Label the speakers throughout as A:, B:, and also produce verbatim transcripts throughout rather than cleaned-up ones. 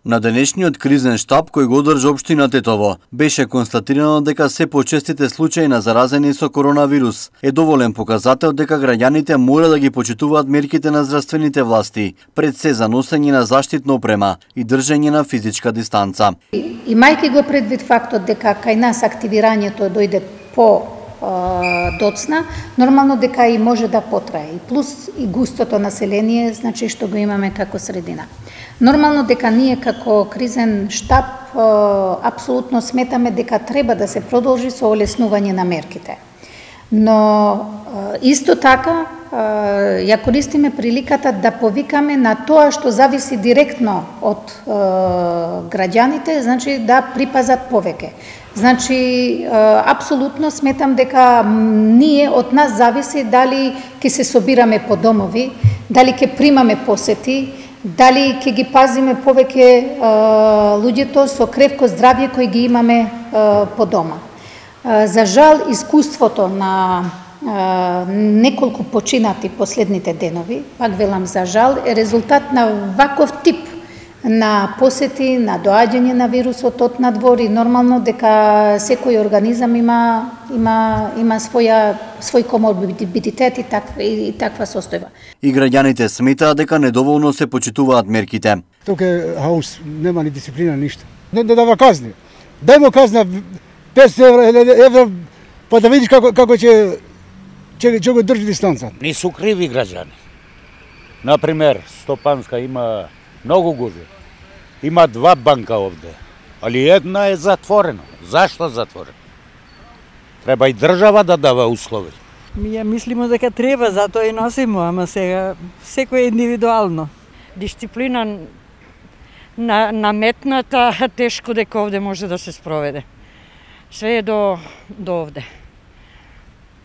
A: На денешниот кризен штаб кој го одржа општина Тетово, беше констатирано дека се почестите случаи на заразени со коронавирус е доволен показател дека граѓаните мора да ги почитуваат мерките на здравствените власти, пред се за носење на заштитна опрема и држење на физичка дистанца.
B: Имајќи го предвид фактот дека кај нас активирањето дојде по доцна, нормално дека и може да потрае. И плюс и густото население, значи што го имаме како средина. Нормално дека ние како кризен штаб апсолутно сметаме дека треба да се продолжи со олеснување на мерките. Но исто така ја користиме приликата да повикаме на тоа што зависи директно од граѓаните, значи да припазат повеќе. Значи, апсолутно сметам дека ние од нас зависи дали ќе се собираме по домови, дали ќе примаме посети, дали ќе ги пазиме повеќе луѓето со кревко здравје кои ги имаме по дома. За жал, искуството на неколку починати последните денови, пак велам за жал, е резултат на ваков тип на посети, на доаѓање на вирусот од надвор и нормално дека секој организам има има има своја свој коморбидитет и таква и таква состојба.
A: И граѓаните сметаат дека недоволно се почитуваат мерките.
C: Тука е хаос, нема ни дисциплина, ништо. Не да дава казни. Дај му казна петстотини евро, па да видиш како како ќе ќе ќе го држи дистанца.
D: Не су криви граѓани. Например, Стопанска има многу губи. Има два банка овде, али една е затворена. Зашто затворена? Треба и држава да дава услови.
E: Ние мислиме дека треба, затоа и носимо, ама сега секој индивидуално.
F: Дисциплина на наметната, тешко дека овде може да се спроведе. Све е до до овде.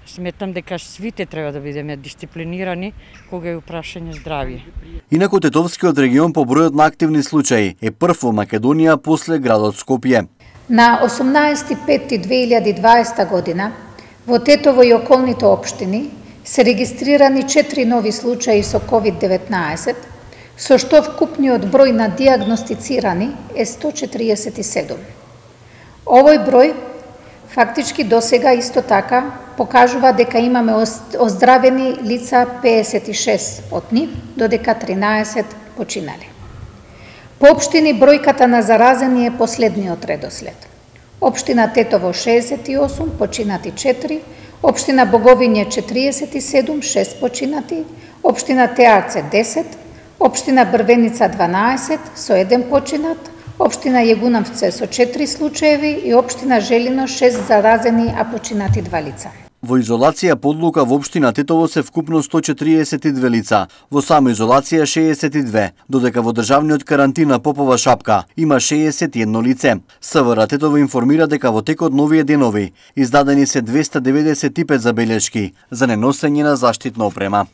F: Сметам дека свите треба да бидеме дисциплинирани кога е прашање здравје.
A: Инаку Тетовскиот регион по бројот на активни случаи е прв во Македонија после градот Скопје.
B: На осумнаесети пети две илјади и дваесета година во Тетово и околните општини се регистрирани четири нови случаи со ковид деветнаесет, со што вкупниот број на дијагностицирани е сто четириесет и седум. Овој број фактички досега исто така покажува дека имаме оздравени лица педесет и шест од нив, додека тринаесет починали. По општини бројката на заразени е последниот редослед. Општина Тетово шеесет и осум, починати четири, општина Боговиње четириесет и седум, шест починати, општина Теарце десет, општина Брвеница дванаесет со еден починат, општина Јегунавце со четири случаеви и општина Желино шест заразени, а починати два лица.
A: Во изолација по одлука во општина Тетово се вкупно сто четириесет и две лица, во самоизолација шеесет и две, додека во државниот карантин на Попова шапка има шеесет и едно лице. СВР Тетово информира дека во текот на овие денови издадени се двесте деветдесет и пет забелешки за неносење на заштитна опрема.